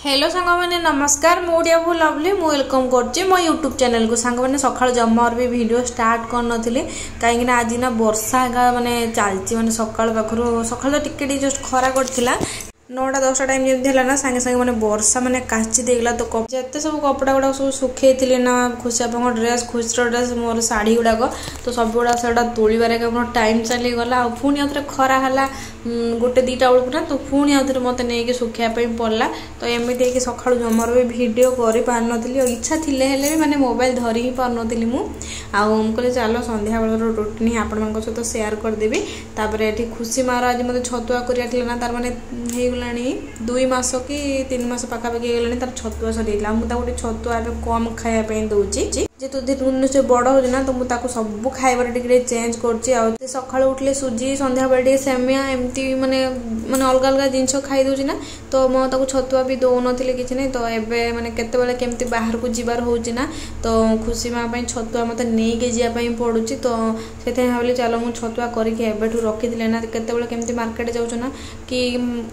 Hello ସାଙ୍ଗମାନେ, ନମସ୍କାର। ମୁଁ ଓଡ଼ିଆ ବୋହୂ ଲଭଲି, ମୁଁ welcome କରୁଛି ମୋ ୟୁଟ୍ୟୁବ୍ ଚ୍ୟାନେଲକୁ। ସାଙ୍ଗମାନେ, ସକାଳୁ ଜମାରୁ ବି ଭିଡ଼ିଓ ଷ୍ଟାର୍ଟ କରିନଥିଲି, କାହିଁକିନା ଆଜି ନା ବର୍ଷା ଏକା ମାନେ ଚାଲିଛି। ମାନେ ସକାଳୁ ପାଖରୁ, ସକାଳୁ ତ ଟିକେ ଟିକେ ଜଷ୍ଟ ଖରା କରିଥିଲା। 9ଟା 10ଟା ଟାଇମ୍ ଯେମିତି ହେଲା ନା, ସାଙ୍ଗେ ସାଙ୍ଗେ ମାନେ ବର୍ଷା ମାନେ କାଚି ଦେଇଗଲା। ତ ଯେତେ ସବୁ କପଡ଼ା ଗୁଡ଼ାକ ସବୁ ଶୁଖେଇଥିଲି ନା, ଖୁସି ବାପାଙ୍କ ଡ୍ରେସ୍, ଖୁସିର ଡ୍ରେସ୍, ମୋର ଶାଢ଼ୀ ଗୁଡ଼ାକ, ତ ସବୁ ଗୁଡ଼ାକ ସେଗୁଡ଼ା ତୋଳିବାରେ ମୋର ଟାଇମ୍ ଚାଲିଗଲା। ଆଉ ପୁଣି ଆଉଥରେ ଖରା ହେଲା 1 2ଟା ବେଳକୁ ନା, ତ ପୁଣି ଆଉଥରେ ମୋତେ ନେଇକି ଶୁଖେଇବା ପାଇଁ ପଡ଼ିଲା। ତ ଏମିତି ହେଇକି ସକାଳୁ ଜମାରୁ ବି ଭିଡ଼ିଓ କରିପାରୁନଥିଲି, ଆଉ ଇଚ୍ଛା ଥିଲେ ହେଲେ ବି ମାନେ ମୋବାଇଲ ଧରି ହିଁ ପାରୁନଥିଲି ମୁଁ। ଆଉ ମୁଁ କହିଲି, ଚାଲ ସନ୍ଧ୍ୟାବେଳର ରୁଟିନ୍ ହିଁ ଆପଣମାନଙ୍କ ସହିତ ସେୟାର କରିଦେବି। ତାପରେ ଏଠି ଖୁସି ମାର ଆଜି ମୋତେ ଛତୁଆ କରିବାର ଥିଲା ନା, ତାର ମାନେ ହେଇଗଲାଣି 2 ମାସ କି 3 ମାସ ପାଖାପାଖି ହେଇଗଲାଣି, ତାର ଛତୁଆ ସରିଯାଇଥିଲା। ମୁଁ ତାକୁ ଗୋଟେ ଛତୁଆ ଏବେ କମ୍ ଖାଇବା ପାଇଁ ଦେଉଛି। ଯେହେତୁ ଦିନକୁ ଦିନ ସେ ବଡ଼ ହେଉଛି ନା, ତ ମୁଁ ତାକୁ ସବୁ ଖାଇବାରେ ଟିକେ ଟିକେ ଚେଞ୍ଜ କରୁଛି। ଆଉ ସେ ସକାଳୁ ଉଠିଲେ ସୁଜି, ସନ୍ଧ୍ୟାବେଳେ ଟିକେ ସେମିଆ, ଏମିତି ମାନେ ମାନେ ଅଲଗା ଅଲଗା ଜିନିଷ ଖାଇ ଦେଉଛି ନା, ତ ମୁଁ ତାକୁ ଛତୁଆ ବି ଦେଉନଥିଲି, କିଛି ନାହିଁ। ତ ଏବେ ମାନେ କେତେବେଳେ କେମିତି ବାହାରକୁ ଯିବାର ହେଉଛି ନା, ତ ଖୁସି ମା ପାଇଁ ଛତୁଆ ମୋତେ ନେଇକି ଯିବା ପାଇଁ ପଡ଼ୁଛି। ତ ସେଥିପାଇଁ ଭାବିଲି, ଚାଲ ମୁଁ ଛତୁଆ କରିକି ଏବେଠୁ ରଖିଥିଲେ ନା, କେତେବେଳେ କେମିତି ମାର୍କେଟ ଯାଉଛୁ ନା, କି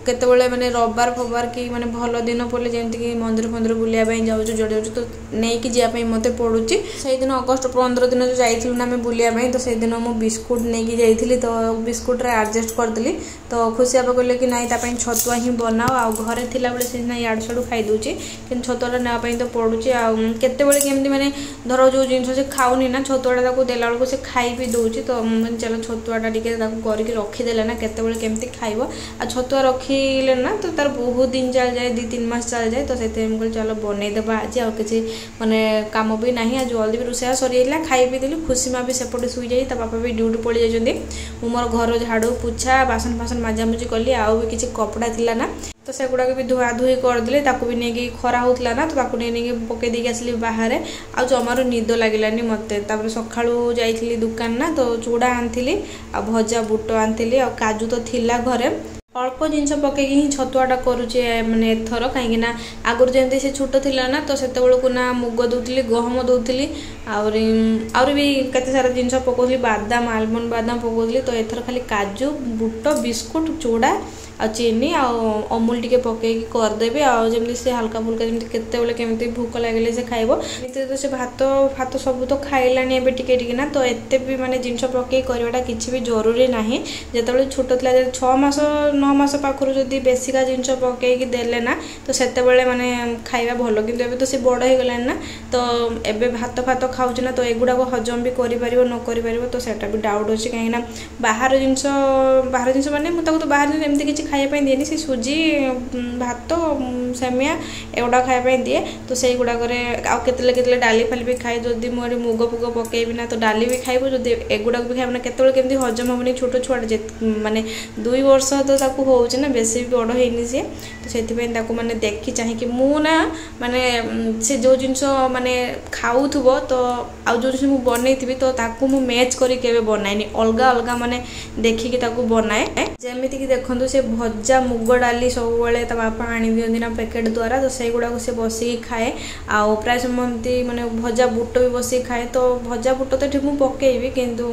କେତେବେଳେ ମାନେ ରବିବାର ଫବାର କି ମାନେ ଭଲ ଦିନ ପଡ଼ିଲେ, ଯେମିତିକି ମନ୍ଦିର ଫନ୍ଦିର ବୁଲିବା ପାଇଁ ଯାଉଛୁ, ଯୁଆଡ଼େ ଯାଉଛୁ, ତ ନେଇକି ଯିବା ପାଇଁ ମୋତେ ପଡ଼ୁଛି। ସେଇଦିନ ଅଗଷ୍ଟ 15 ଦିନ ଯେଉଁ ଯାଇଥିଲୁ ନା ଆମେ ବୁଲିବା ପାଇଁ, ତ ସେଇଦିନ ମୁଁ ବିସ୍କୁଟ ନେଇକି ଯାଇଥିଲି, ତ ବିସ୍କୁଟରେ ଆଡ଼ଜଷ୍ଟ କରିଦେଲି। ତ ଖୁସି ବାପା କହିଲେ କି ନାଇଁ, ତା ପାଇଁ ଛତୁଆ ହିଁ ବନାଅ। ଆଉ ଘରେ ଥିଲାବେଳେ ସେ ସିନା ଇଆଡ଼ୁ ସିଆଡ଼ୁ ଖାଇଦେଉଛି, କିନ୍ତୁ ଛତୁଆଟା ନେବା ପାଇଁ ତ ପଡ଼ୁଛି। ଆଉ କେତେବେଳେ କେମିତି ମାନେ ଧର ଯେଉଁ ଜିନିଷ ସେ ଖାଉନି ନା, ଛତୁଆଟା ତାକୁ ଦେଲା ବେଳକୁ ସେ ଖାଇ ବି ଦେଉଛି। ତ ଚାଲ ଛତୁଆଟା ଟିକେ ତାକୁ କରିକି ରଖିଦେଲେ ନା, କେତେବେଳେ କେମିତି ଖାଇବ। ଆଉ ଛତୁଆ ରଖିଲେ ନା, ତ ତାର ବହୁତ ଦିନ ଚାଲିଯାଏ, 2 3 ମାସ ଚାଲିଯାଏ। ତ ସେଥିପାଇଁ ମୁଁ କହିଲି, ଚାଲ ବନେଇଦେବା ଆଜି। ଆଉ କିଛି ମାନେ କାମ ବି ନାହିଁ, ଆଉ ଜଲ୍ଦି ବି ରୋଷେଇ ସରିଯାଇଥିଲା, ଖାଇ ପିଇ ଦେଲି। ଖୁସି ମା ବି ସେପଟେ ଶୋଇଯାଇ, ତା ବାପା ବି ଡ୍ୟୁଟି ପଳେଇ ଯାଇଛନ୍ତି। ମୁଁ ମୋର ଘର ଝାଡ଼ୁ ପୋଛା, ବାସନ ଫାସନ ମାଜାମୁଜି କଲି। ଆଉ ବି କିଛି କପଡ଼ା ଥିଲା ନା, ତ ସେଗୁଡ଼ାକ ବି ଧୁଆ ଧୁଇ କରିଦେଲି। ତାକୁ ବି ନେଇକି, ଖରା ହେଉଥିଲା ନା, ତ ତାକୁ ନେଇ ନେଇକି ପକେଇ ଦେଇକି ଆସିଲି ବାହାରେ। ଆଉ ଜମାରୁ ନିଦ ଲାଗିଲାନି ମୋତେ। ତାପରେ ସକାଳୁ ଯାଇଥିଲି ଦୋକାନ ନା, ତ ଚୁଡ଼ା ଆଣିଥିଲି ଆଉ ଭଜା ବୁଟ ଆଣିଥିଲି, ଆଉ କାଜୁ ତ ଥିଲା ଘରେ। ଅଳ୍ପ ଜିନିଷ ପକେଇକି ହିଁ ଛତୁଆଟା କରୁଛି ମାନେ ଏଥର, କାହିଁକିନା ଆଗରୁ ଯେମିତି ସେ ଛୋଟ ଥିଲା ନା, ତ ସେତେବେଳକୁ ନା ମୁଗ ଦେଉଥିଲି, ଗହମ ଦେଉଥିଲି, ଆହୁରି ଆହୁରି ବି କେତେ ସାରା ଜିନିଷ ପକାଉଥିଲି, ବାଦାମ, ଆଲମଣ୍ଡ ବାଦାମ ପକାଉଥିଲି। ତ ଏଥର ଖାଲି କାଜୁ, ବୁଟ, ବିସ୍କୁଟ, ଚୁଡ଼ା ଆଉ ଚିନି ଆଉ ଅମୁଲ ଟିକେ ପକେଇକି କରିଦେବି। ଆଉ ଯେମିତି ସେ ହାଲକା ଫୁଲକା ଯେମିତି କେତେବେଳେ କେମିତି ଭୋକ ଲାଗିଲେ ସେ ଖାଇବ। ଏମିତି ତ ସେ ଭାତ ଫାତ ସବୁ ତ ଖାଇଲାଣି ଏବେ ଟିକେ ଟିକେ ନା, ତ ଏତେ ବି ମାନେ ଜିନିଷ ପକେଇ କରିବାଟା କିଛି ବି ଜରୁରୀ ନାହିଁ। ଯେତେବେଳେ ଛୋଟ ଥିଲା, 6 ମାସ 9 ମାସ ପାଖରୁ ଯଦି ବେଶିକା ଜିନିଷ ପକେଇକି ଦେଲେ ନା, ତ ସେତେବେଳେ ମାନେ ଖାଇବା ଭଲ। କିନ୍ତୁ ଏବେ ତ ସେ ବଡ଼ ହେଇଗଲାଣି ନା, ତ ଏବେ ଭାତ ଫାତ ଖାଉଛି ନା, ତ ଏଗୁଡ଼ାକ ହଜମ ବି କରିପାରିବ ନ କରିପାରିବ, ତ ସେଇଟା ବି ଡାଉଟ୍ ଅଛି। କାହିଁକିନା ବାହାର ଜିନିଷ, ବାହାର ଜିନିଷ ମାନେ ମୁଁ ତାକୁ ତ ବାହାର ଜିନିଷ ଏମିତି କିଛି ଖାଇବା ପାଇଁ ଦିଏନି। ସେ ସୁଜି, ଭାତ, ସେମିଆ ଏଗୁଡ଼ାକ ଖାଇବା ପାଇଁ ଦିଏ। ତ ସେଇଗୁଡ଼ାକରେ ଆଉ କେତେବେଳେ କେତେବେଳେ ଡାଲି ଫାଲି ବି ଖାଏ। ଯଦି ମୁଁ ଏଠି ମୁଗ ଫୁଗ ପକେଇବି ନା, ତ ଡାଲି ବି ଖାଇବ। ଯଦି ଏଗୁଡ଼ାକ ବି ଖାଇବ ନା, କେତେବେଳେ କେମିତି ହଜମ ହେବନି। ଛୋଟ ଛୁଆଟା ଯେ, ମାନେ 2 ବର୍ଷ ତ ତାକୁ ହେଉଛି ନା, ବେଶୀ ବି ବଡ଼ ହେଇନି ସିଏ। ତ ସେଥିପାଇଁ ତାକୁ ମାନେ ଦେଖି ଚାହିଁକି ମୁଁ ନା, ମାନେ ସେ ଯେଉଁ ଜିନିଷ ମାନେ ଖାଉଥିବ, ତ ଆଉ ଯେଉଁ ଜିନିଷ ମୁଁ ବନେଇଥିବି, ତ ତାକୁ ମୁଁ ମ୍ୟାଚ୍ କରି କେବେ ବନାଏନି। ଅଲଗା ଅଲଗା ମାନେ ଦେଖିକି ତାକୁ ବନାଏ। ଯେମିତିକି ଦେଖନ୍ତୁ, ସେ ଭଜା ମୁଗ ଡାଲି ସବୁବେଳେ ତା ବାପା ଆଣି ଦିଅନ୍ତି ନା ପ୍ୟାକେଟ୍ ଦ୍ୱାରା, ତ ସେଇଗୁଡ଼ାକୁ ସେ ବସିକି ଖାଏ। ଆଉ ପ୍ରାୟ ସମୟ ଏମିତି ମାନେ ଭଜା ବୁଟ ବି ବସିକି ଖାଏ। ତ ଭଜା ବୁଟ ତ ଏଠି ମୁଁ ପକେଇବି, କିନ୍ତୁ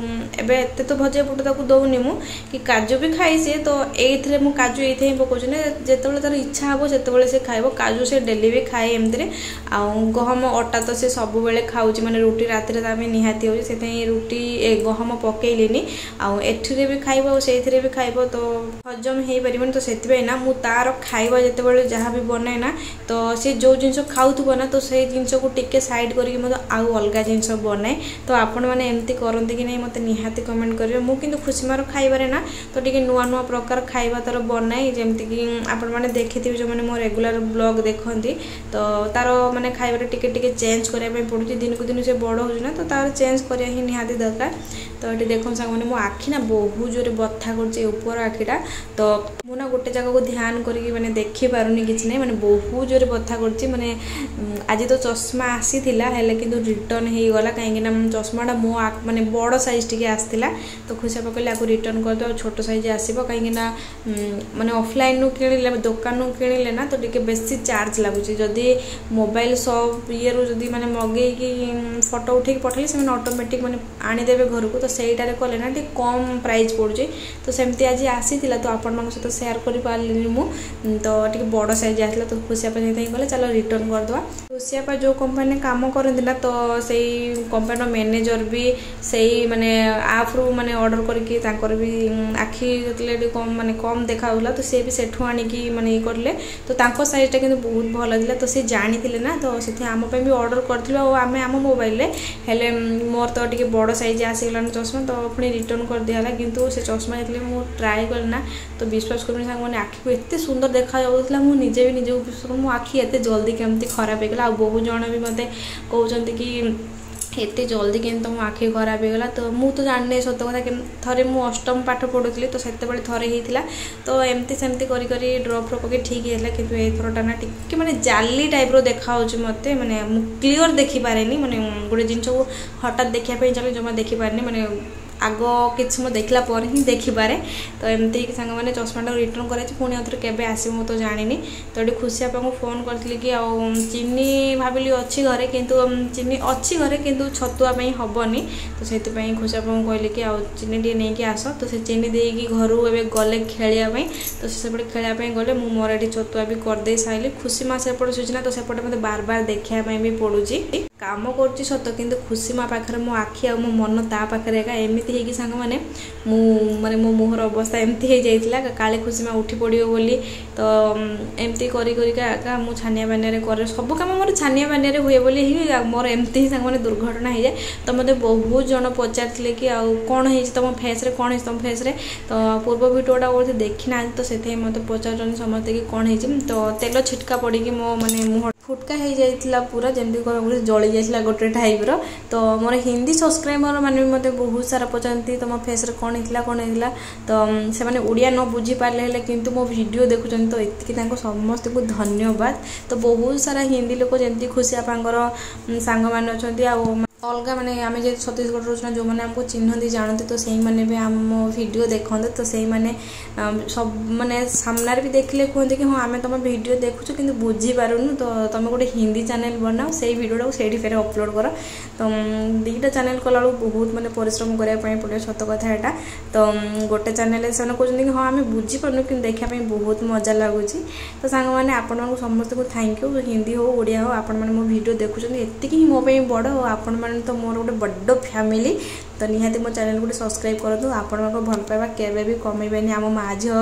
ଏବେ ଏତେ ତ ଭଜା ବୁଟ ତାକୁ ଦେଉନି ମୁଁ, କି କାଜୁ ବି ଖାଇ ସିଏ। ତ ଏଇଥିରେ ମୁଁ କାଜୁ ଏଇଥିରେ ହିଁ ପକାଉଛି ନା, ଯେତେବେଳେ ତାର ଇଚ୍ଛା ହେବ ସେତେବେଳେ ସେ ଖାଇବ। କାଜୁ ସେ ଡେଲି ବି ଖାଏ ଏମିତିରେ। ଆଉ ଗହମ ଅଟା ତ ସେ ସବୁବେଳେ ଖାଉଛି, ମାନେ ରୁଟି ରାତିରେ ତା ପାଇଁ ନିହାତି ହେଉଛି, ସେଥିପାଇଁ ରୁଟି ଏ ଗହମ ପକେଇଲିନି। ଆଉ ଏଥିରେ ବି ଖାଇବ ଆଉ ସେଇଥିରେ ବି ଖାଇବ, ତ ହଜମ ହେଇପାରିବନି। ତ ସେଥିପାଇଁ ନା ମୁଁ ତାର ଖାଇବା ଯେତେବେଳେ ଯାହା ବି ବନାଏ ନା, ତ ସେ ଯେଉଁ ଜିନିଷ ଖାଉଥିବ ନା, ତ ସେଇ ଜିନିଷକୁ ଟିକେ ସାଇଡ଼୍ କରିକି ମଧ୍ୟ ଆଉ ଅଲଗା ଜିନିଷ ବନାଏ। ତ ଆପଣମାନେ ଏମିତି କରନ୍ତି କି ନାହିଁ, ମୋତେ ନିହାତି କମେଣ୍ଟ କରିବେ। ମୁଁ କିନ୍ତୁ ଖୁସି ମାର ଖାଇବାରେ ନା, ତ ଟିକେ ନୂଆ ନୂଆ ପ୍ରକାର ଖାଇବା ତାର ବନାଏ। ଯେମିତିକି ଆପଣମାନେ ଦେଖିଥିବେ, ଯେଉଁମାନେ ମୋ ରେଗୁଲାର ବ୍ଲଗ୍ ଦେଖନ୍ତି। ତ ତାର ମାନେ ଖାଇବାରେ ଟିକେ ଟିକେ ଚେଞ୍ଜ କରିବା ପାଇଁ ପଡ଼ୁଛି। ଦିନକୁ ଦିନ ସେ ବଡ଼ ହେଉଛି ନା, ତ ତାର ଚେଞ୍ଜ କରିବା ହିଁ ନିହାତି ଦରକାର। ତ ଏଠି ଦେଖନ୍ତୁ ସାଙ୍ଗମାନେ, ମୋ ଆଖି ନା ବହୁତ ଜୋରେ ବଥା କରୁଛି, ଉପର ଆଖିଟା। ତ ମୁଁ ନା ଗୋଟେ ଜାଗାକୁ ଧ୍ୟାନ କରିକି ମାନେ ଦେଖିପାରୁନି କିଛି ନାହିଁ, ମାନେ ବହୁତ ଜୋରେ ବଥା କରୁଛି। ମାନେ ଆଜି ତ ଚଷମା ଆସିଥିଲା, ହେଲେ କିନ୍ତୁ ରିଟର୍ନ ହେଇଗଲା, କାହିଁକିନା ଚଷମାଟା ମୋ ମାନେ ବଡ଼ ସାଇଜ୍ ଟିକେ ଆସିଥିଲା। ତ ଖୁସି ବାପା କହିଲେ, ଆକୁ ରିଟର୍ନ କରିଦେବ, ଛୋଟ ସାଇଜ୍ ଆସିବ। କାହିଁକିନା ମାନେ ଅଫଲାଇନ୍ରୁ କିଣିଲେ, ଦୋକାନରୁ କିଣିଲେ ନା, ତ ଟିକେ ବେଶୀ ଚାର୍ଜ ଲାଗୁଛି। ଯଦି ମୋବାଇଲ ସପ୍ ଇଏରୁ ଯଦି ମାନେ ମଗେଇକି ଫଟୋ ଉଠେଇକି ପଠେଇଲେ, ସେମାନେ ଅଟୋମେଟିକ୍ ମାନେ ଆଣିଦେବେ ଘରକୁ, ତ ସେଇଟାରେ କଲେ ନା ଟିକେ କମ୍ ପ୍ରାଇସ୍ ପଡ଼ୁଛି। ତ ସେମିତି ଆଜି ଆସିଥିଲା, ତ ଆପଣମାନଙ୍କ ସହିତ ସେୟାର କରିପାରିଲିନି ମୁଁ। ତ ଟିକେ ବଡ଼ ସାଇଜ୍ ଆସିଲା, ତ ଖୁସି ବାପା ସେଥିପାଇଁ ଗଲେ ଚାଲ ରିଟର୍ନ କରିଦେବା। ଖୁସି ବାପା ଯେଉଁ କମ୍ପାନୀରେ କାମ କରନ୍ତି ନା, ତ ସେଇ କମ୍ପାନୀର ମ୍ୟାନେଜର ବି ସେଇ ମାନେ ଆପ୍ରୁ ମାନେ ଅର୍ଡ଼ର କରିକି ତାଙ୍କର ବି ଆଖି ଯେତେବେଳେ ଟିକେ କମ୍ ମାନେ କମ୍ ଦେଖାଯାଉଥିଲା, ତ ସେ ବି ସେଠୁ ଆଣିକି ମାନେ ଇଏ କରିଲେ। ତ ତାଙ୍କ ସାଇଜ୍ଟା କିନ୍ତୁ ବହୁତ ଭଲ ଥିଲା, ତ ସେ ଜାଣିଥିଲେ ନା, ତ ସେଥିପାଇଁ ଆମ ପାଇଁ ବି ଅର୍ଡ଼ର କରିଥିଲୁ ଆଉ ଆମେ ଆମ ମୋବାଇଲରେ। ହେଲେ ମୋର ତ ଟିକେ ବଡ଼ ସାଇଜ୍ ଆସିଗଲାଣି ଚଷମା, ତ ପୁଣି ରିଟର୍ନ କରିଦିଆହେଲା। କିନ୍ତୁ ସେ ଚଷମା ଯେତେବେଳେ ମୁଁ ଟ୍ରାଏ କଲି ନା, ତ ବିଶ୍ୱାସ କରିବେନି ସାଙ୍ଗମାନେ, ଆଖିକୁ ଏତେ ସୁନ୍ଦର ଦେଖାଯାଉଥିଲା, ମୁଁ ନିଜେ ବି ନିଜକୁ ବିଶ୍ୱାସ, ମୋ ଆଖି ଏତେ ଜଲ୍ଦି କେମିତି ଖରାପ ହେଇଗଲା। ଆଉ ବହୁତ ଜଣ ବି ମୋତେ କହୁଛନ୍ତି କି ଏତେ ଜଲ୍ଦି କେମିତି ତୁମ ଆଖି ଖରାପ ହେଇଗଲା? ତ ମୁଁ ତ ଜାଣିନି ସତ କଥା। ଥରେ ମୁଁ ଅଷ୍ଟମ ପାଠ ପଢ଼ୁଥିଲି, ତ ସେତେବେଳେ ଥରେ ହେଇଥିଲା, ତ ଏମିତି ସେମିତି କରି କରି ଡ୍ରପ୍ ଫ୍ରପ୍ ପକେଇ ଠିକ୍ ହେଇଥିଲା। କିନ୍ତୁ ଏଇଥରଟା ନା ଟିକେ ମାନେ ଜାଲି ଟାଇପ୍ର ଦେଖାହେଉଛି ମୋତେ, ମାନେ ମୁଁ କ୍ଲିଅର୍ ଦେଖିପାରେନି। ମାନେ ଗୋଟେ ଜିନିଷକୁ ହଠାତ୍ ଦେଖିବା ପାଇଁ ଚାଲେ ଜମା ଦେଖିପାରେନି, ମାନେ ଆଗ କିଛି ମୁଁ ଦେଖିଲା ପରେ ହିଁ ଦେଖିପାରେ। ତ ଏମିତି ହେଇକି ସାଙ୍ଗମାନେ ଚଷମାଟାକୁ ରିଟର୍ନ କରାଯାଇଛି, ପୁଣି ଆଉଥରେ କେବେ ଆସିବ ମୁଁ ତ ଜାଣିନି। ତ ଏଠି ଖୁସି ବାପାଙ୍କୁ ଫୋନ୍ କରିଥିଲି କି ଆଉ ଚିନି ଭାବିଲି ଅଛି ଘରେ, କିନ୍ତୁ ଚିନି ଅଛି ଘରେ କିନ୍ତୁ ଛତୁଆ ପାଇଁ ହେବନି। ତ ସେଥିପାଇଁ ଖୁସି ବାପାଙ୍କୁ କହିଲି କି ଆଉ ଚିନି ଟିକେ ନେଇକି ଆସ। ତ ସେ ଚିନି ଦେଇକି ଘରୁ ଏବେ ଗଲେ ଖେଳିବା ପାଇଁ। ତ ସେ ସେପଟେ ଖେଳିବା ପାଇଁ ଗଲେ, ମୁଁ ମୋର ଏଠି ଛତୁଆ ବି କରିଦେଇ ସାରିଲି। ଖୁସି ମା ସେପଟେ ଶୋଇଛି ନା, ତ ସେପଟେ ମୋତେ ବାର ବାର ଦେଖିବା ପାଇଁ ବି ପଡ଼ୁଛି। କାମ କରୁଛି ସତ, କିନ୍ତୁ ଖୁସି ମା ପାଖରେ ମୋ ଆଖି ଆଉ ମୋ ମନ ତା ପାଖରେ ଏକା। ଏମିତି ହେଇକି ସାଙ୍ଗମାନେ ମୁଁ ମାନେ ମୋ ମୁହଁର ଅବସ୍ଥା ଏମିତି ହେଇଯାଇଥିଲା, କାଳେ ଖୁସି ମା ଉଠି ପଡ଼ିବ ବୋଲି। ତ ଏମିତି କରି କରିକା ଏକା ମୁଁ ଛାନିଆ ବାନିଆରେ କରେ ସବୁ କାମ, ମୋର ଛାନିଆ ବାନିଆରେ ହୁଏ ବୋଲି ହିଁ ମୋର ଏମିତି ହିଁ ସାଙ୍ଗମାନେ ଦୁର୍ଘଟଣା ହେଇଯାଏ। ତ ମୋତେ ବହୁତ ଜଣ ପଚାରିଥିଲେ କି ଆଉ କ'ଣ ହେଇଛି ତୁମ ଫେସ୍ରେ, କ'ଣ ହେଇଛି ତୁମ ଫେସ୍ରେ? ତ ପୂର୍ବ ଭିଡ଼ିଓଟା ବୋଧେ ଦେଖିନାହାନ୍ତି, ତ ସେଥିପାଇଁ ମୋତେ ପଚାରୁଛନ୍ତି ସମସ୍ତେ କି କ'ଣ ହେଇଛି। ତ ତେଲ ଛିଟକା ପଡ଼ିକି ମୋ ମାନେ ମୁହଁ ଫୁଟକା ହେଇଯାଇଥିଲା ପୁରା, ଯେମିତି କହିବାକୁ ଜଳି ଯାଇଥିଲା ଗୋଟେ ଟାଇପ୍ର। ତ ମୋର ହିନ୍ଦୀ ସବସ୍କ୍ରାଇବର ମାନେ ବି ମୋତେ ବହୁତ ସାରା ପଚାରନ୍ତି ତୁମ ଫେସ୍ରେ କ'ଣ ହେଇଥିଲା, କ'ଣ ହେଇଥିଲା? ତ ସେମାନେ ଓଡ଼ିଆ ନ ବୁଝିପାରିଲେ ହେଲେ କିନ୍ତୁ ମୋ ଭିଡ଼ିଓ ଦେଖୁଛନ୍ତି, ତ ଏତିକି ତାଙ୍କୁ ସମସ୍ତଙ୍କୁ ଧନ୍ୟବାଦ। ତ ବହୁତ ସାରା ହିନ୍ଦୀ ଲୋକ, ଯେମିତି ଖୁସି ବାପାଙ୍କର ସାଙ୍ଗମାନେ ଅଛନ୍ତି ଆଉ ଅଲଗା ମାନେ ଆମେ ଯେହେତୁ ଛତିଶଗଡ଼ ରହୁଛୁ ନା, ଯେଉଁମାନେ ଆମକୁ ଚିହ୍ନନ୍ତି ଜାଣନ୍ତି, ତ ସେଇମାନେ ବି ଆମ ଭିଡ଼ିଓ ଦେଖନ୍ତି। ତ ସେଇମାନେ ସବୁ ମାନେ ସାମ୍ନାରେ ବି ଦେଖିଲେ କୁହନ୍ତି କି ହଁ, ଆମେ ତୁମ ଭିଡ଼ିଓ ଦେଖୁଛୁ କିନ୍ତୁ ବୁଝିପାରୁନୁ, ତ ତୁମେ ଗୋଟେ ହିନ୍ଦୀ ଚ୍ୟାନେଲ୍ ବନାଅ, ସେଇ ଭିଡ଼ିଓଟାକୁ ସେଇଠି ଫେରେ ଅପଲୋଡ଼ କର। ତ ଦୁଇଟା ଚ୍ୟାନେଲ୍ କଲାବେଳକୁ ବହୁତ ମାନେ ପରିଶ୍ରମ କରିବା ପାଇଁ ପଡ଼ିବ, ସତ କଥା ଏଇଟା। ତ ଗୋଟେ ଚ୍ୟାନେଲ୍ରେ ସେମାନେ କହୁଛନ୍ତି କି ହଁ, ଆମେ ବୁଝିପାରୁନୁ କିନ୍ତୁ ଦେଖିବା ପାଇଁ ବହୁତ ମଜା ଲାଗୁଛି। ତ ସାଙ୍ଗମାନେ, ଆପଣଙ୍କୁ ସମସ୍ତଙ୍କୁ thank you. Hindi ହଉ ଓଡ଼ିଆ ହଉ, ଆପଣମାନେ ମୋ ଭିଡ଼ିଓ ଦେଖୁଛନ୍ତି, ଏତିକି ହିଁ ମୋ ପାଇଁ ବଡ଼। ଆଉ ଆପଣମାନେ ତ ମୋର ଗୋଟେ ବଡ଼ ଫ୍ୟାମିଲି, ତ ନିହାତି ମୋ ଚ୍ୟାନେଲ୍ ଗୋଟେ ସବସ୍କ୍ରାଇବ୍ କରନ୍ତୁ। ଆପଣଙ୍କ ଭଲ ପାଇବା କେବେ ବି କମିବେନି ଆମ ମା ଝିଅ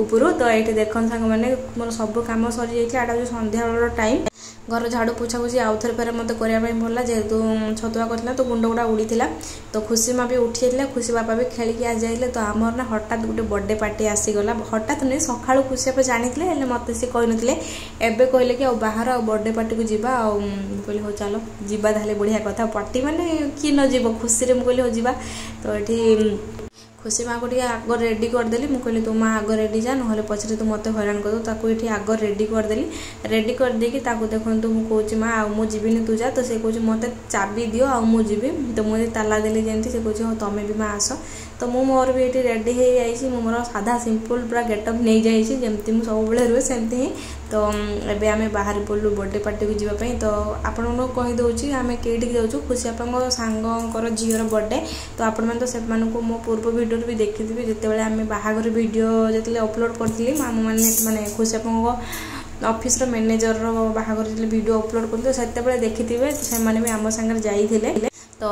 ଉପରୁ। ତ ଏଇଠି ଦେଖନ୍ତୁ ସାଙ୍ଗମାନେ, ମୋର ସବୁ କାମ ସରିଯାଇଥିଲା। ଏଇଟା ହେଉଛି ସନ୍ଧ୍ୟାବେଳର ଟାଇମ୍। ଘର ଝାଡ଼ୁ ପୋଛାପୋଛି ଆଉଥରେ ଫେରେ ମୋତେ କରିବା ପାଇଁ ପଡ଼ିଲା, ଯେହେତୁ ଛତୁଆ କରିଥିଲା ତ ଗୁଣ୍ଡ ଗୁଡ଼ା ଉଡ଼ିଥିଲା। ତ ଖୁସି ମା ବି ଉଠି ଯାଇଥିଲା, ଖୁସି ବାପା ବି ଖେଳିକି ଆସିଯାଇଥିଲେ। ତ ଆମର ନା ହଠାତ୍ ଗୋଟେ ବର୍ଥଡେ ପାର୍ଟି ଆସିଗଲା। ହଠାତ୍ ନୁହେଁ, ସକାଳୁ ଖୁସି ବାପା ଜାଣିଥିଲେ, ହେଲେ ମୋତେ ସେ କହିନଥିଲେ। ଏବେ କହିଲେ କି ଆଉ ବାହାର ଆଉ ବର୍ଥଡେ ପାର୍ଟିକୁ ଯିବା। ଆଉ ମୁଁ କହିଲି ହଉ ଚାଲ ଯିବା ତାହେଲେ, ବଢ଼ିଆ କଥା, ପାର୍ଟି ମାନେ କିଏ ନ ଯିବ ଖୁସିରେ। ମୁଁ କହିଲି ହଉ ଯିବା। ତ ଏଠି ଖୁସି ମାଆକୁ ଟିକେ ଆଗ ରେଡ଼ି କରିଦେଲି। ମୁଁ କହିଲି ତୁ ମା ଆଗ ରେଡ଼ି ଯା, ନହେଲେ ପଛରେ ତୁ ମୋତେ ହଇରାଣ କରିଦେବୁ। ତାକୁ ଏଠି ଆଗ ରେଡ଼ି କରିଦେଲି। ରେଡ଼ି କରିଦେଇକି ତାକୁ ଦେଖନ୍ତୁ ମୁଁ କହୁଛି ମା ଆଉ ମୁଁ ଯିବିନି, ତୁ ଯା। ତ ସେ କହୁଛି ମୋତେ ଚାବି ଦିଅ ଆଉ ମୁଁ ଯିବି। ତ ମୁଁ ତାଲା ଦେଲି ଯେମିତି, ସେ କହୁଛି ହଉ ତମେ ବି ମା ଆସ। ତ ମୁଁ ମୋର ବି ଏଠି ରେଡ଼ି ହେଇଯାଇଛି। ମୁଁ ମୋର ସାଧା ସିମ୍ପଲ୍ ପୁରା ଗେଟଅପ୍ ନେଇଯାଇଛି, ଯେମିତି ମୁଁ ସବୁବେଳେ ରୁହେ ସେମିତି ହିଁ। ତ ଏବେ ଆମେ ବାହାରି ପଡ଼ିଲୁ ବର୍ଥଡେ ପାର୍ଟିକୁ ଯିବା ପାଇଁ। ତ ଆପଣଙ୍କୁ କହିଦେଉଛି ଆମେ କେଇଠିକି ଯାଉଛୁ। ଖୁସି ବାପାଙ୍କ ସାଙ୍ଗଙ୍କର ଝିଅର ବର୍ଥଡେ। ତ ଆପଣମାନେ ତ ସେମାନଙ୍କୁ ମୋ ପୂର୍ବ ଭିଡ଼ିଓରେ ବି ଦେଖିଥିବେ, ଯେତେବେଳେ ଆମେ ବାହାଘର ଭିଡ଼ିଓ ଯେତେବେଳେ ଅପଲୋଡ଼ କରିଥିଲି, ମାମୁଁମାନେ ମାନେ ଖୁସି ବାପାଙ୍କ ଅଫିସର ମ୍ୟାନେଜରର ବାହାଘର ଯେତେବେଳେ ଭିଡ଼ିଓ ଅପଲୋଡ଼ କରିଥିଲି, ସେତେବେଳେ ଦେଖିଥିବେ ସେମାନେ ବି ଆମ ସାଙ୍ଗରେ ଯାଇଥିଲେ। ତ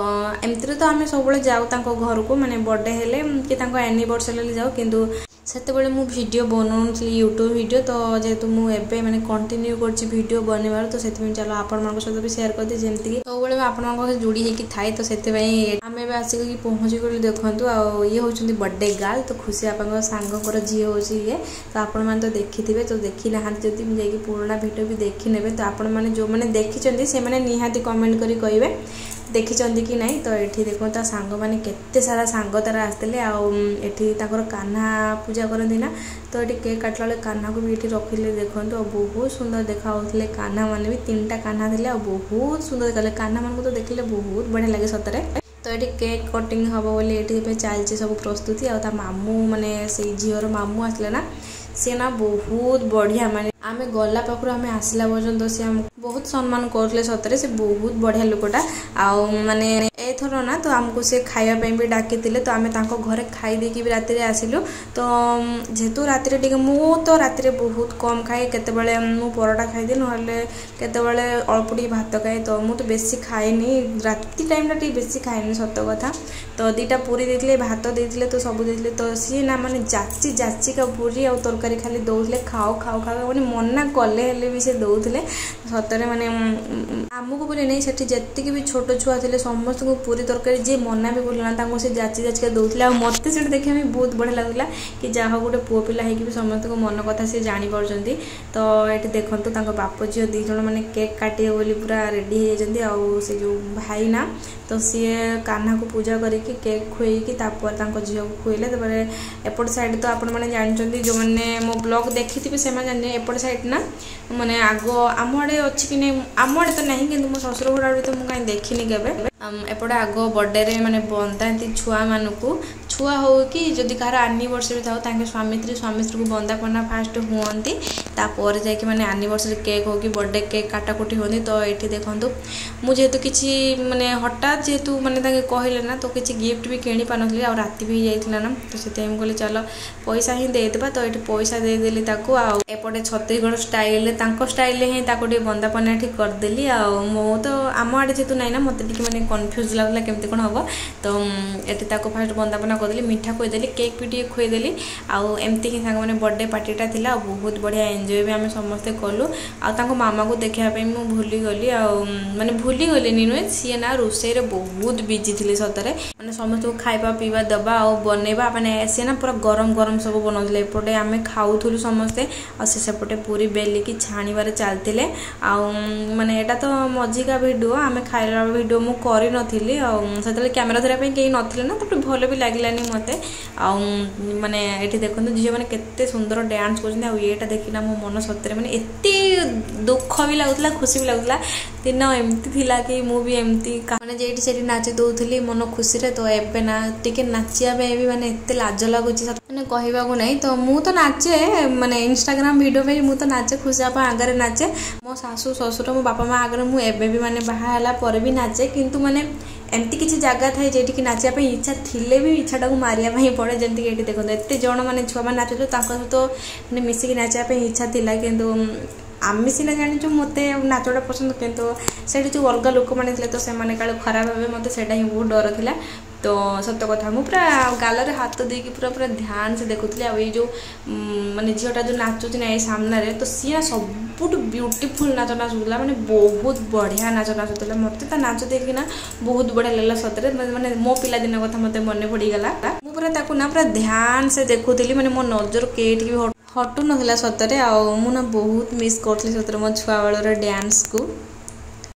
ଏମିତିରେ ତ ଆମେ ସବୁବେଳେ ଯାଉ ତାଙ୍କ ଘରକୁ, ମାନେ ବର୍ଥଡେ ହେଲେ କି ତାଙ୍କ ଆନିଭର୍ସରୀ ହେଲେ ଯାଉ, କିନ୍ତୁ ସେତେବେଳେ ମୁଁ ଭିଡ଼ିଓ ବନାଉନଥିଲି ୟୁଟ୍ୟୁବ୍ ଭିଡ଼ିଓ। ତ ଯେହେତୁ ମୁଁ ଏବେ ମାନେ କଣ୍ଟିନ୍ୟୁ କରୁଛି ଭିଡ଼ିଓ ବନେଇବାର, ତ ସେଥିପାଇଁ ଚାଲ ଆପଣମାନଙ୍କ ସହିତ ବି ସେୟାର କରିଦିଏ, ଯେମିତିକି ସବୁବେଳେ ମୁଁ ଆପଣଙ୍କ ସହ ଯୋଡ଼ି ହେଇକି ଥାଏ। ତ ସେଥିପାଇଁ ଆମେ ଏବେ ଆସିକି ପହଞ୍ଚିଗଲୁ ଦେଖନ୍ତୁ। ଆଉ ଇଏ ହେଉଛନ୍ତି ବର୍ଥଡେ ଗାର୍ଲ, ତ ଖୁସି ବାପାଙ୍କ ସାଙ୍ଗଙ୍କର ଝିଅ ହେଉଛି ଇଏ। ତ ଆପଣମାନେ ତ ଦେଖିଥିବେ, ତ ଦେଖିନାହାନ୍ତି ଯଦି ଯାଇକି ପୁରୁଣା ଭିଡ଼ିଓ ବି ଦେଖିନେବେ। ତ ଆପଣମାନେ ଯେଉଁମାନେ ଦେଖିଛନ୍ତି ସେମାନେ ନିହାତି କମେଣ୍ଟ କରି କହିବେ ଦେଖିଛନ୍ତି କି ନାହିଁ। ତ ଏଠି ଦେଖନ୍ତୁ ତା ସାଙ୍ଗମାନେ କେତେ ସାରା ସାଙ୍ଗ ତାର ଆସିଥିଲେ। ଆଉ ଏଠି ତାଙ୍କର କାହ୍ନା ପୂଜା କରନ୍ତି ନା, ତ ଏଠି କେକ୍ କାଟିଲା ବେଳେ କାହ୍ନାକୁ ବି ଏଠି ରଖିଲେ ଦେଖନ୍ତୁ। ଆଉ ବହୁତ ସୁନ୍ଦର ଦେଖାଯାଉଥିଲେ କାହ୍ନା ମାନେ ବି, 3ଟା କାହ୍ନା ଥିଲେ ଆଉ ବହୁତ ସୁନ୍ଦର ଦେଖାଯାଉଥିଲେ। କାହ୍ନା ମାନଙ୍କୁ ତ ଦେଖିଲେ ବହୁତ ବଢ଼ିଆ ଲାଗେ ସତରେ। ତ ଏଠି କେକ୍ କଟିଂ ହେବ ବୋଲି ଏଠି ଏବେ ଚାଲିଛି ସବୁ ପ୍ରସ୍ତୁତି। ଆଉ ତା ମାମୁଁ ମାନେ ସେଇ ଝିଅର ମାମୁଁ ଆସିଲେ ନା, ସିଏ ନା ବହୁତ ବଢ଼ିଆ, ମାନେ ଆମେ ଗଲା ପାଖରୁ ଆମେ ଆସିଲା ପର୍ଯ୍ୟନ୍ତ ସେ ଆମକୁ ବହୁତ ସମ୍ମାନ କରୁଥିଲେ। ସତରେ ସେ ବହୁତ ବଢ଼ିଆ ଲୋକଟା। ଆଉ ମାନେ ଏଥର ନା ତ ଆମକୁ ସେ ଖାଇବା ପାଇଁ ବି ଡାକିଥିଲେ, ତ ଆମେ ତାଙ୍କ ଘରେ ଖାଇ ଦେଇକି ବି ରାତିରେ ଆସିଲୁ। ତ ଯେହେତୁ ରାତିରେ ଟିକେ, ମୁଁ ତ ରାତିରେ ବହୁତ କମ୍ ଖାଏ। କେତେବେଳେ ମୁଁ ପରଟା ଖାଇଦିଏ, ନହେଲେ କେତେବେଳେ ଅଳ୍ପ ଟିକେ ଭାତ ଖାଏ। ତ ମୁଁ ତ ବେଶୀ ଖାଏନି, ରାତି ଟାଇମ୍ଟା ଟିକେ ବେଶୀ ଖାଏନି, ସତ କଥା। ତ 2ଟା ପୁରୀ ଦେଇଥିଲେ, ଭାତ ଦେଇଥିଲେ, ତ ସବୁ ଦେଇଥିଲେ। ତ ସିଏ ନା ମାନେ ଯାଚି ଯାଚିକା ପୁରୀ ଆଉ ତରକାରୀ ଖାଲି ଦେଉଥିଲେ, ଖାଅ ଖାଅ ଖାଅ। ମାନେ ମନା କଲେ ହେଲେ ବି ସେ ଦେଉଥିଲେ। ସତରେ ମାନେ ଆମକୁ ବୋଲି ନାହିଁ, ସେଠି ଯେତିକି ବି ଛୋଟ ଛୁଆ ଥିଲେ ସମସ୍ତଙ୍କୁ ପୁରୀ ତରକାରୀ, ଯିଏ ମନା ବି କରୁଥିଲା ତାଙ୍କୁ ସେ ଯାଚି ଯାଚିକା ଦେଉଥିଲେ। ଆଉ ମୋତେ ସେଇଟା ଦେଖିବା ପାଇଁ ବହୁତ ବଢ଼ିଆ ଲାଗୁଥିଲା କି ଯାହା ହଉ, ଗୋଟେ ପୁଅ ପିଲା ହେଇକି ବି ସମସ୍ତଙ୍କ ମନ କଥା ସେ ଜାଣିପାରୁଛନ୍ତି। ତ ଏଠି ଦେଖନ୍ତୁ, ତାଙ୍କ ବାପ ଝିଅ 2 ଜଣ ମାନେ କେକ୍ କାଟିବେ ବୋଲି ପୁରା ରେଡ଼ି ହେଇଯାଇଛନ୍ତି। ଆଉ ସେ ଯେଉଁ ଭାଇନା, ତ ସିଏ କାହ୍ନାକୁ ପୂଜା କରିକି କେକ୍ ଖୁଏଇକି ତାପରେ ତାଙ୍କ ଝିଅକୁ ଖୁଏଇଲେ। ତାପରେ ଏପଟ ସାଇଡ଼୍ ତ ଆପଣମାନେ ଜାଣିଛନ୍ତି, ଯେଉଁମାନେ ମୋ ବ୍ଲଗ୍ ଦେଖିଥିବେ ସେମାନେ ଜାଣିଛନ୍ତି, ଏପଟ ସାଇଡ଼୍ ନା ମାନେ ଆଗ ଆମ ଆଡ଼େ ଅଛି କି ନାହିଁ, ଆମ ଆଡ଼େ ତ ନାହିଁ, କିନ୍ତୁ ମୋ ଶ୍ୱଶୁର ଘର ଆଡ଼େ ତ ମୁଁ କାହିଁ ଦେଖିନି କେବେ। ଏପଟେ ଆଗ ବର୍ଥଡେରେ ମାନେ ବନ୍ଦାନ୍ତି ଛୁଆମାନଙ୍କୁ, ଛୁଆ ହଉ କି ଯଦି କାହାର ଆନିଭର୍ସରୀ ଥାଉ, ତାଙ୍କେ ସ୍ୱାମୀ ସ୍ତ୍ରୀ, ସ୍ୱାମୀ ସ୍ତ୍ରୀକୁ ବନ୍ଦାପନା ଫାଷ୍ଟ ହୁଅନ୍ତି, ତାପରେ ଯାଇକି ମାନେ ଆନିଭର୍ସରୀ କେକ୍ ହଉ କି ବର୍ଥଡେ କେକ୍ କାଟାକୁଟି ହୁଅନ୍ତି। ତ ଏଇଠି ଦେଖନ୍ତୁ, ମୁଁ ଯେହେତୁ କିଛି ମାନେ ହଠାତ୍ ଯେହେତୁ ମାନେ ତାଙ୍କେ କହିଲେ ନା, ତ କିଛି ଗିଫ୍ଟ ବି କିଣି ପାରିନଥିଲି, ଆଉ ରାତି ବି ହେଇଯାଇଥିଲା ନା, ତ ସେଥିପାଇଁ ମୁଁ କହିଲି ଚାଲ ପଇସା ହିଁ ଦେଇଦେବା। ତ ଏଇଠି ପଇସା ଦେଇଦେଲି ତାକୁ, ଆଉ ଏପଟେ ଛତିଶଗଡ଼ ଷ୍ଟାଇଲରେ, ତାଙ୍କ ଷ୍ଟାଇଲରେ ହିଁ ତାକୁ ଟିକେ ବନ୍ଦାପନା ଏଠି କରିଦେଲି। ଆଉ ମୁଁ ତ ଆମ ଆଡ଼େ ଯେହେତୁ ନାହିଁ ନା, ମୋତେ ଟିକେ ମାନେ କନଫ୍ୟୁଜ୍ ଲାଗୁଥିଲା କେମିତି କ'ଣ ହେବ। ତ ଏଠି ତାକୁ ଫାଷ୍ଟ ବନ୍ଦାପନା କରିଦେଲି, ମିଠା ଖୁଆଇଦେଲି, କେକ୍ ବି ଟିକେ ଖୁଆଇଦେଲି। ଆଉ ଏମିତି ହିଁ ସାଙ୍ଗମାନେ ବର୍ଥଡେ ପାର୍ଟିଟା ଥିଲା, ଆଉ ବହୁତ ବଢ଼ିଆ ଏନ୍ଜୟ ବି ଆମେ ସମସ୍ତେ କଲୁ। ଆଉ ତାଙ୍କ ମାମାକୁ ଦେଖିବା ପାଇଁ ମୁଁ ଭୁଲିଗଲି, ଆଉ ମାନେ ଭୁଲିଗଲିନି ନୁହେଁ, ସିଏ ନା ରୋଷେଇରେ ବହୁତ ବିଜି ଥିଲେ। ସତରେ ମାନେ ସମସ୍ତଙ୍କୁ ଖାଇବା ପିଇବା ଦେବା ଆଉ ବନେଇବା, ମାନେ ସିଏ ନା ପୁରା ଗରମ ଗରମ ସବୁ ବନାଉଥିଲେ। ଏପଟେ ଆମେ ଖାଉଥିଲୁ ସମସ୍ତେ, ଆଉ ସେ ସେପଟେ ପୁରୀ ବେଲିକି ଛାଣିବାରେ ଚାଲିଥିଲେ। ଆଉ ମାନେ ଏଇଟା ତ ମଝିକା ଭିଡ଼ିଓ, ଆମେ ଖାଇଲା ଭିଡ଼ିଓ ମୁଁ କରିନଥିଲି, ଆଉ ସେତେବେଳେ କ୍ୟାମେରା ଧରିବା ପାଇଁ କେହି ନଥିଲେ ନା, ତାପରେ ଭଲ ବି ଲାଗିଲାନି ମୋତେ। ଆଉ ମାନେ ଏଠି ଦେଖନ୍ତୁ, ଝିଅମାନେ କେତେ ସୁନ୍ଦର ଡ୍ୟାନ୍ସ କରୁଛନ୍ତି। ଆଉ ଏଇଟା ଦେଖିନା ମୋ ମନ ସତରେ ମାନେ ଏତେ ଦୁଃଖ ବି ଲାଗୁଥିଲା, ଖୁସି ବି ଲାଗୁଥିଲା। ଦିନ ଏମିତି ଥିଲା କି ମୁଁ ବି ଏମିତି ମାନେ ଯେଇଠି ସେଠି ନାଚି ଦେଉଥିଲି ମନ ଖୁସିରେ। ତ ଏବେ ନା ଟିକେ ନାଚିବା ପାଇଁ ବି ମାନେ ଏତେ ଲାଜ ଲାଗୁଛି, ମାନେ କହିବାକୁ ନାହିଁ। ତ ମୁଁ ତ ନାଚେ, ମାନେ ଇନଷ୍ଟାଗ୍ରାମ ଭିଡ଼ିଓ ପାଇଁ ମୁଁ ତ ନାଚେ, ଖୁସି ବାପା ଆଗରେ ନାଚେ, ମୋ ଶାଶୁ ଶ୍ୱଶୁର ମୋ ବାପା ମା ଆଗରେ ମୁଁ ଏବେ ବି ମାନେ ବାହା ହେଲା ପରେ ବି ନାଚେ। କିନ୍ତୁ ମାନେ ଏମିତି କିଛି ଜାଗା ଥାଏ ଯେଉଁଠିକି ନାଚିବା ପାଇଁ ଇଚ୍ଛା ଥିଲେ ବି ଇଚ୍ଛାଟାକୁ ମାରିବା ପାଇଁ ପଡ଼େ। ଯେମିତିକି ଏଠି ଦେଖନ୍ତୁ, ଏତେ ଜଣ ମାନେ ଛୁଆମାନେ ନାଚୁଥିଲେ, ତାଙ୍କ ସହିତ ମାନେ ମିଶିକି ନାଚିବା ପାଇଁ ଇଚ୍ଛା ଥିଲା। କିନ୍ତୁ ଆମେ ସିନା ଜାଣିଛୁ ମୋତେ ନାଚଟା ପସନ୍ଦ, କିନ୍ତୁ ସେଇଠି ଯେଉଁ ଅଲଗା ଲୋକମାନେ ଥିଲେ, ତ ସେମାନେ କାଳେ ଖରାପ ଭାବିବେ, ମୋତେ ସେଇଟା ହିଁ ବହୁତ ଡର ଥିଲା। ତ ସତ କଥା, ମୁଁ ପୁରା ଗାଲରେ ହାତ ଦେଇକି ପୁରା ପୁରା ଧ୍ୟାନ ସେ ଦେଖୁଥିଲି। ଆଉ ଏଇ ଯେଉଁ ମାନେ ଝିଅଟା ଯେଉଁ ନାଚୁଛି ନା ଏଇ ସାମ୍ନାରେ, ତ ସିଏ ସବୁଠୁ ବ୍ୟୁଟିଫୁଲ୍ ନାଚ ନାଚୁଥିଲା, ମାନେ ବହୁତ ବଢ଼ିଆ ନାଚ ନାଚୁଥିଲା। ମୋତେ ତା ନାଚ ଦେଖିକିନା ବହୁତ ବଢ଼ିଆ ଲାଗିଲା ସତରେ, ମାନେ ମୋ ପିଲାଦିନ କଥା ମୋତେ ମନେ ପଡ଼ିଗଲା। ମୁଁ ପୁରା ତାକୁ ନା ପୁରା ଧ୍ୟାନ ସେ ଦେଖୁଥିଲି, ମାନେ ମୋ ନଜର କେଇଠିକି ବି ହଟୁ ନଥିଲା ସତରେ। ଆଉ ମୁଁ ନା ବହୁତ ମିସ୍ କରୁଥିଲି ସତରେ ମୋ ଛୁଆବେଳର ଡ୍ୟାନ୍ସକୁ।